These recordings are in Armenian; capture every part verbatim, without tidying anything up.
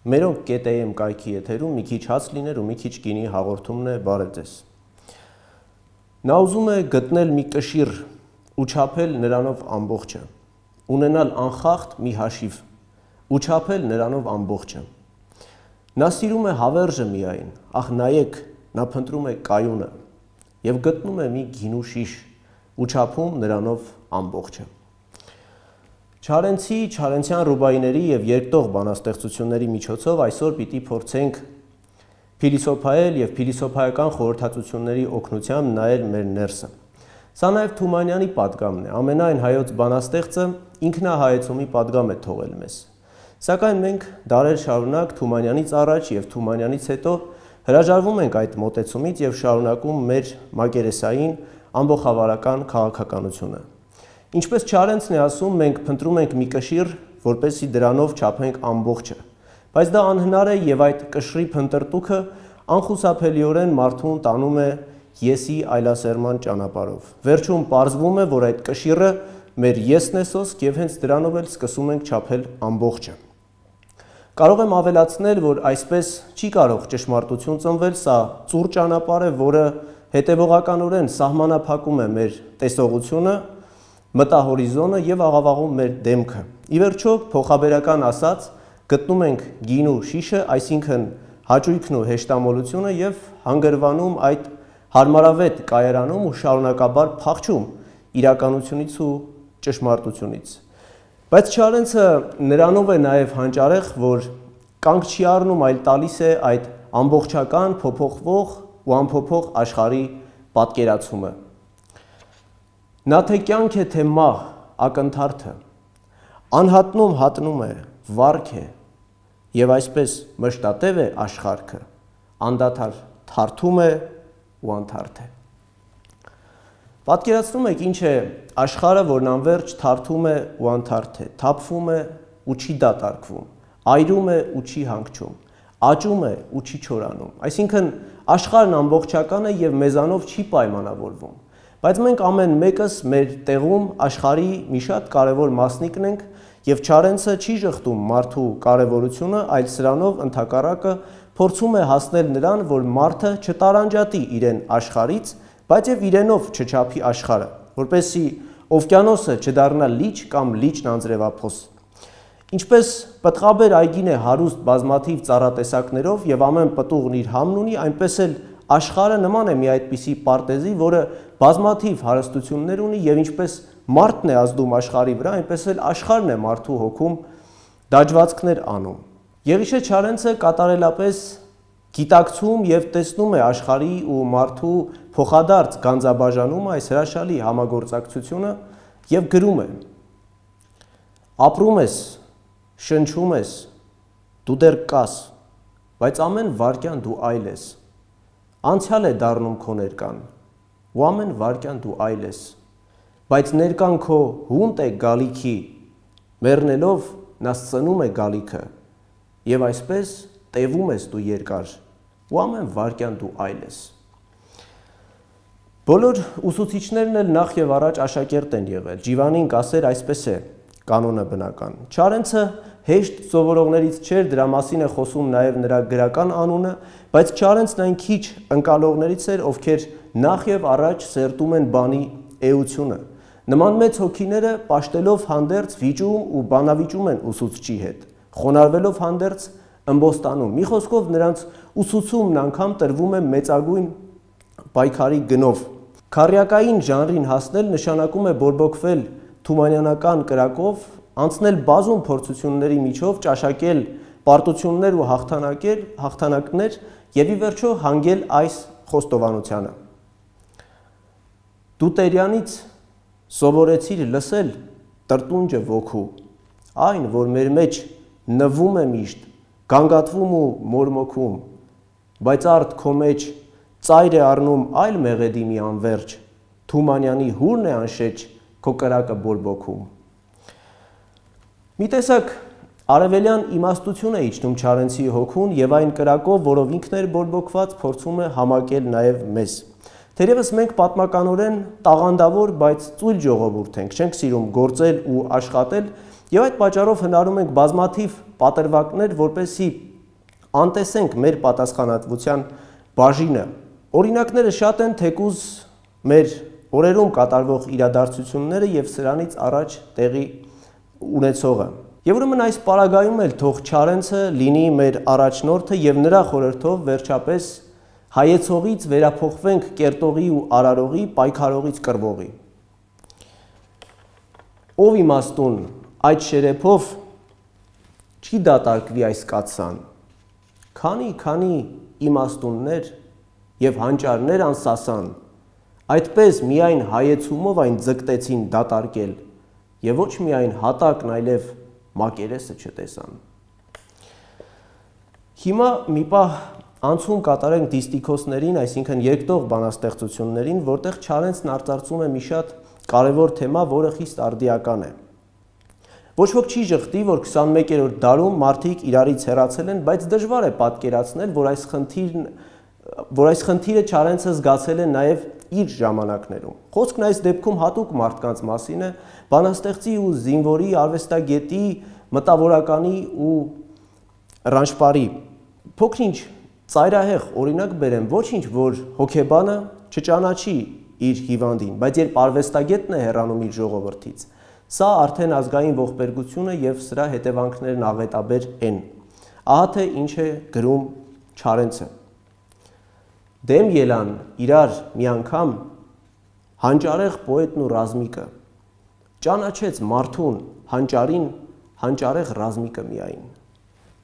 Մերոնք կետեյեմ կայքի եթերում մի քիչ հաց լիներ ու մի քիչ գինի հաղորդումն է, բարև ձեզ։ Նա ուզում է գտնել մի կշիռ ու չափել նրանով ամբողջը, ունենալ անխախտ մի հաշիվ ու չափել նրանով ամբողջը։ Նա սիրում է հավերժը միայն, ախ նայեք, նա փնտրում է կայունը և գտնում է մի գինու շիշ ու չափում նրանով ամբողջը։ Չարենցի, Չարենցյան ռուբայիների և երկտող բանաստեղծությունների միջոցով այսօր պիտի փորձենք փիլիսոփայել և փիլիսոփայական խորհրդածությունների օգնությամբ նայել մեր ներսը։ Սա նաև Թումանյանի պատգամն է, ամենայն հայոց բանաստեղծը ինքնահայեցումի պատգամ է թողել մեզ։ Սակայն մենք դարեր շարունակ Թումանյանից առաջ և Թումանյանից հետո հրաժարվում ենք այդ մոտեցումից և շարունակում մեր մակերեսային ամբոխավարական քաղաքականությունը։ Ինչպես Չարենցն է ասում, մենք փնտրում ենք մի կշիռ, որպեսզի դրանով չափենք ամբողջը, բայց դա անհնար է և այդ կշռի փնտրտուքը անխուսափելիորեն մարդուն տանում է եսի այլասերման ճանապարհով։ Վերջում պարզվում է, որ այդ կշիռը մեր եսն է սոսկ և հենց դրանով էլ սկսում ենք չափել ամբողջը։ Կարող եմ ավելացնել, որ այսպես չի կարող ճշմարտություն ծնվել, սա ծուռ ճանապարհ է, որը հետևողականորեն սահմանափակում է մեր տեսողությունը, մտահորիզոնը և աղավաղում մեր դեմքը։ Ի վերջո, փոխաբերական ասած, գտնում ենք գինու շիշը, այսինքն հաճույքն ու հեշտամոլությունը և հանգրվանում այդ հարմարավետ կայարանում ու շարունակաբար փախչում իրականությունից ու ճշմարտությունից։ Բայց Չարենցը նրանով է նաև հանճարեղ, որ կանգ չի առնում, այլ տալիս է այդ ամբողջական, փոփոխվող ու անփոփոխ աշխարհի պատկերացումը։ Նա թե կյանք է, թե մահ, ակնթարթը, անհատնում հատնում է, վարք է, և այսպես մշտատև է աշխարհքը, անդադար թարթում է ու անթարթ է։ Պատկերացնում եք ինչ է աշխարհը, որն անվերջ թարթում է ու անթարթ է, թափվում է ու չի դատարկվում, այրում է ու չի հանգչում, աճում է ու չի չորանում։ Այսինքն աշխարհն ամբողջական է և մեզանով չի պայմանավորվում։ Բայց մենք ամեն մեկս մեր տեղում աշխարհի մի շատ կարևոր մասնիկն ենք և Չարենցը չի ժխտում մարդու կարևորությունը, այլ սրանով ընդհակառակը փորձում է հասնել նրան, որ մարդը չտարանջատի իրեն աշխարհից, բայց և իրենով չչափի աշխարհը, որպեսզի օվկիանոսը չդառնա լիճ կամ լիճն անձրևափոս։ Ինչպես պտղաբեր այգին է հարուստ բազմաթիվ ծառատեսակներով և ամեն պտուղն իր համն ունի, այնպես էլ աշխարհը նման է մի այդպիսի պարտեզի, որը բազմաթիվ հարստություններ ունի և ինչպես մարդն է ազդում աշխարհի վրա, այնպես էլ աշխարհն է մարդու հոգում դաջվածքներ անում։ Եղիշե Չարենցը կատարելապես գիտակցում և տեսնում է աշխարհի ու մարդու փոխադարձ գանձաբաժանումը, այս հրաշալի համագործակցությունը և գրում է. ապրում ես, շնչում ես, դու դեռ կաս, բայց ամեն վայրկյան դու այլ ես, անցյալ է դառնում քո ներկան, ու ամեն վայրկյան դու այլ ես, բայց ներկան քո հունտ է գալիքի, մեռնելով նա սծնում է գալիքը, և այսպես տևում ես դու երկար, ու ամեն վայրկյան դու այլ ես։ Բոլոր ուսուցիչներն էլ նախ և առաջ աշակերտ են եղել, Ջիվանին կասեր այսպես է կանոնը բնական։ Չարենցը հեշտ սովորողներից չէր, դրա մասին է խոսում նաև նրա գրական անունը, բայց Չարենցն այն քիչ ընկալողներից էր, ովքեր նախ և առաջ սերտում են բանի էությունը։ Նման մեծ հոգիները պաշտելով հանդերձ վիճում ու բանավիճում են ուսուցչի հետ, խոնարհվելով հանդերձ ըմբոստանում։ Մի խոսքով նրանց ուսուցումն անգամ տրվում է մեծագույն պայքարի գնով։ Քառյակային ժանրին հասնել նշանակում է բորբոքվել թումանյանական կրակով, անցնել բազում փորձությունների միջով, ճաշակել պարտություններ ու հաղթանակներ և ի վերջո հանգել այս խոստովանությանը. դու Տերյանից սովորեցիր լսել տրտունջը ոգու, այն, որ մեր մեջ նվում է միշտ, գանգատվում ու մորմոքում, բայց արդ քո մեջ ծայր է առնում այլ մեղեդի մի անվերջ, Թումանյանի հուրն է անշեջ քո կրակը բորբոքում։ Մի տեսակ արևելյան իմաստություն է իջնում Չարենցի հոգուն և այն կրակով, որով ինքն էր բորբոքված, փորձում է համակել նաև մեզ։ Թերևս մենք պատմականորեն տաղանդավոր, բայց ծույլ ժողովուրդ ենք, չենք սիրում գործել ու աշխատել, և այդ պատճառով հնարում ենք բազմաթիվ պատրվակներ, որպեսզի անտեսենք մեր պատասխանատվության բաժինը։ Օրինակները շատ են, թեկուզ մեր օրերում կատարվող իրադարձությունները եւ սրանից առաջ տեղի ունեցողը։ Եվ ուրեմն այս պարագայում էլ թող Չարենցը լինի մեր առաջնորդը եւ նրա խորհրդով վերջապես հայեցողից վերափոխվենք կերտողի ու արարողի, պայքարողից կռվողի։ Ով իմաստուն այդ շերեփով չի դատարկվի այս կաթսան։ Քանի, քանի իմաստուններ եւ հանճարներ անսասան, այդպես միայն հայեցումով այն ձգտեցին դատարկել եւ ոչ միայն հատակն, այլև մակերեսը չտեսան։ Հիմա մի պահ անցում կատարենք դիստիքոսներին, այսինքն երկտող բանաստեղծություններին, որտեղ Չարենցն արծարծում է մի շատ կարևոր թեմա, որը խիստ արդիական է։ Ոչ ոք չի ժխտի, որ քսանմեկերորդ դարում մարդիկ իրարից հեռացել են, բայց դժվար է պատկերացնել, որ այս խնդիրն որ այս խնդիրը Չարենցը զգացել է նաև իր ժամանակներում։ Խոսքն այս դեպքում հատուկ մարդկանց մասին է, բանաստեղծի ու զինվորի, արվեստագետի, մտավորականի ու ռանշպարի։ Փոքրինչ ծայրահեղ օրինակ բերեմ, ոչինչ, որ հոգեբանը չճանաչի իր հիվանդին, բայց երբ արվեստագետն է հեռանում իր ժողովրդից, սա արդեն ազգային ողբերգություն է եւ սրա հետևանքներն աղետաբեր են։ Ահա թե ինչ է գրում Չարենցը։ Դեմ ելան իրար մի անգամ հանճարեղ պոետն ու ռազմիկը, ճանաչեց մարդուն հանճարին հանճարեղ ռազմիկը միայն։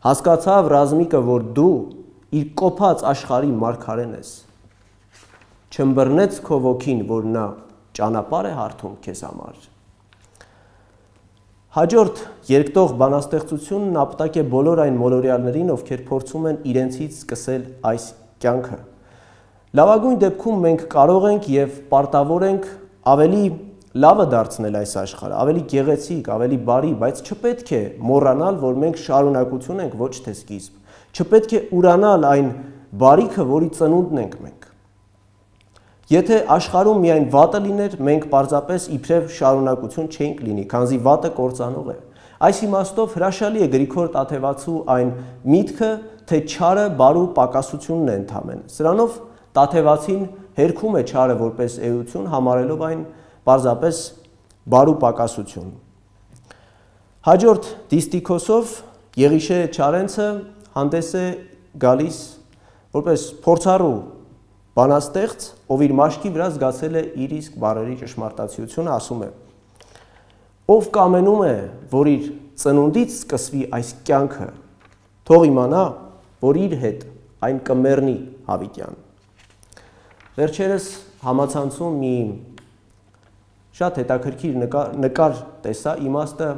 Հասկացավ ռազմիկը, որ դու իր կոփած աշխարհի մարգարեն ես։ Չըմբռնեց քո ոգին, որ նա ճանապարհ է հարթում քեզ համար։ Հաջորդ երկտող բանաստեղծությունն ապտակ է բոլոր այն մոլորյալներին, ովքեր փորձում են իրենցից սկսել այս կյանքը։ Լավագույն դեպքում մենք կարող ենք եւ պարտավոր ենք ավելի լավը դարձնել այս աշխարհը, ավելի գեղեցիկ, ավելի բարի, բայց չպետք է մոռանալ, որ մենք շարունակություն ենք, ոչ թե սկիզբ։ Չպետք է ուրանալ այն բարիքը, որի ծնունդն ենք մենք։ Եթե աշխարհում միայն վատը լիներ, մենք պարզապես իբրև շարունակություն չենք լինի, քանզի վատը կործանող է։ Այս իմաստով հրաշալի է Գրիգոր Տաթևացու այն միտքը, թե չարը բարու պակասությունն է ընդհանրեն։ Սրանով Տաթևացին հերքում է չարը որպես էություն, համարելով այն պարզապես բարու պակասություն։ Հաջորդ դիստիքոսով Եղիշե Չարենցը հանդես է գալիս որպես փորձառու բանաստեղծ, ով իր մաշկի վրա զգացել է իր իսկ բառերի ճշմարտացիությունը, ասում է. Ով կամենում է, որ իր ծնունդից սկսվի այս կյանքը, թող իմանա, որ իր հետ այն կմեռնի հավիտյան։ Վերջերս համացանցում մի շատ հետաքրքիր նկար, նկար տեսա, իմաստը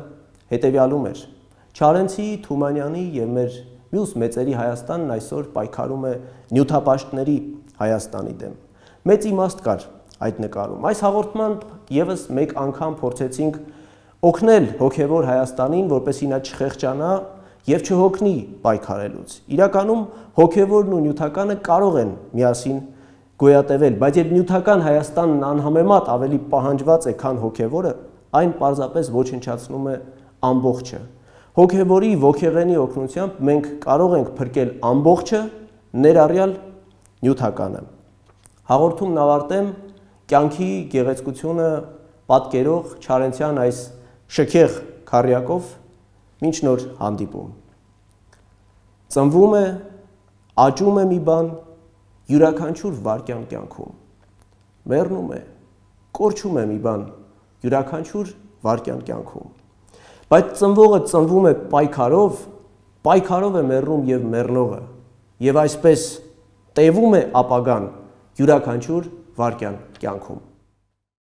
հետևյալում էր։ Չարենցի, Թումանյանի եւ մեր մյուս մեծերի Հայաստանն այսօր պայքարում է նյութապաշտների Հայաստանի դեմ։ Մեծ իմաստ կար այդ նկարում։ Այս հաղորդմամբ եւս մեկ անգամ փորձեցինք օգնել հոգեվոր Հայաստանին, որպեսզի նա չխեղճանա եւ չհոգնի պայքարելուց։ Իրականում հոգեվորն ու նյութականը կարող են միասին գոյատևել, բայց երբ նյութական Հայաստանն անհամեմատ ավելի պահանջված է, քան հոգեվորը, այն պարզապես ոչնչացնում է ամբողջը։ Հոգեվորի ոգեղենի օգնությամբ մենք կարող ենք փրկել ամբողջը, ներառյալ նյութականը։ Հաղորդումն ավարտեմ կյանքի գեղեցկությունը պատկերող Չարենցյան այս շքեղ քառյակով, մինչ նոր հանդիպում։ Ծնվում է, աճում է մի բան յուրաքանչյուր վայրկյան կյանքում։ Մեռնում է, կորչում է մի բան յուրաքանչյուր վայրկյան կյանքում։ Բայց ծնվողը ծնվում է պայքարով, պայքարով է մեռնում եւ մեռնողը, եւ այսպես տևում է ապագան յուրաքանչյուր վայրկյան կյանքում։